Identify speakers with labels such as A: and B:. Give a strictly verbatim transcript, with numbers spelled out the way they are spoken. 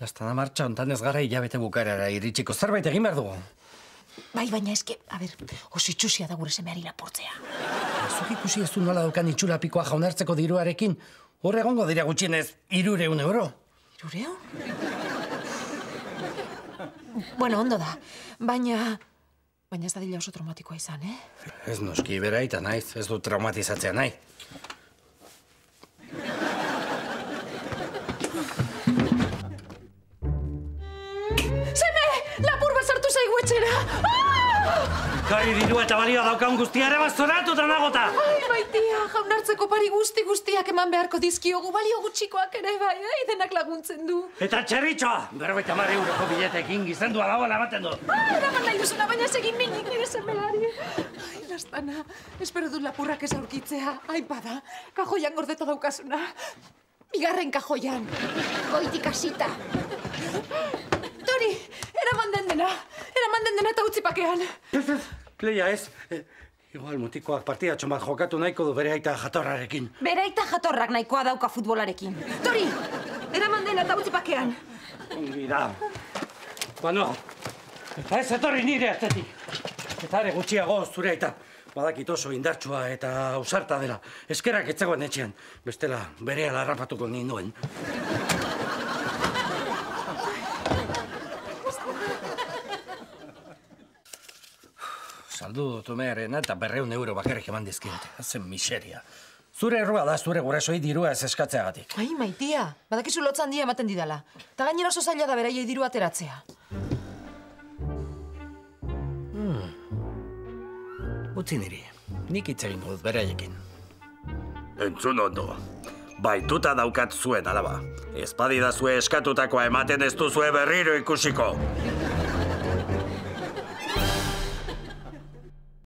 A: Lastana martxa ontan ez gara hilabete bukarara iritsiko zerbait egin behar dugu.
B: Bai, baina eske, a ber, oso itxusia da gure semeari lapurtzea.
A: Zuk ikusi ez du nola daukan itxurapikoa jaunartzeko diruarekin, hor egongo dira gutxienez hirureun euro.
B: Hirureun? Bueno, ondo da, baina... Baina ez da dila oso traumatikoa izan, eh?
A: Ez noski, bera eta naiz, ez du traumatizatzea nahi.
B: Seme! Lapur bat sartu zaigu etxera!
A: Gari dirua eta balioa daukan guztiara bastoratu eta nagota!
B: Ai, maitia, jaunartzeko pari guzti guztiak eman beharko dizkiogu, balio gutxikoak ere bai, eh? Denak laguntzen du.
A: Eta txerritxoa! Berrogeita hamar euroko biletekin gizendua dagoela ematen du.
B: Ah, eraman nahi duzuna, baina segin minik nire semeari. Ai, Lastana, espero dut lapurrak ez aurkitzea. Ai, bada, kajoian gordeta daukazuna. Bigarren kajoian. Goitik hasita. Tori, eraman den dena. Eraman den dena eta utzi pakean.
A: Ez, ez, Leia ez. Eh, igual mutikoak partidatxo bat jokatu nahiko du bere aita jatorrarekin.
B: Bere aita jatorrak nahikoa dauka futbolarekin. Tori, eraman dena eta utzi pakean.
A: Ongi da. Bano, eta ez etorri nire atzetik. Eta are gutxiago zure aita. Badakit oso indartsua eta ausarta dela. Eskerak etzegoen etxean. Bestela, berehala harrapatuko ninduen. Saldu dut umearena eta berreun euro bakarrik eman dizkidate. Hazen miseria. Zure errua da zure gurasoi dirua ez eskatzeagatik.
B: Ai, maitia, badakizu lotza handia ematen didala. Ta gainera oso zaila da beraiei diru ateratzea.
A: Utzi niri, nik hitz egingo dut beraiekin.
C: Entzun ondo. Baituta daukat zuen alaba. Ez badidazue eskatutakoa ematen ez duzue berriro ikusiko.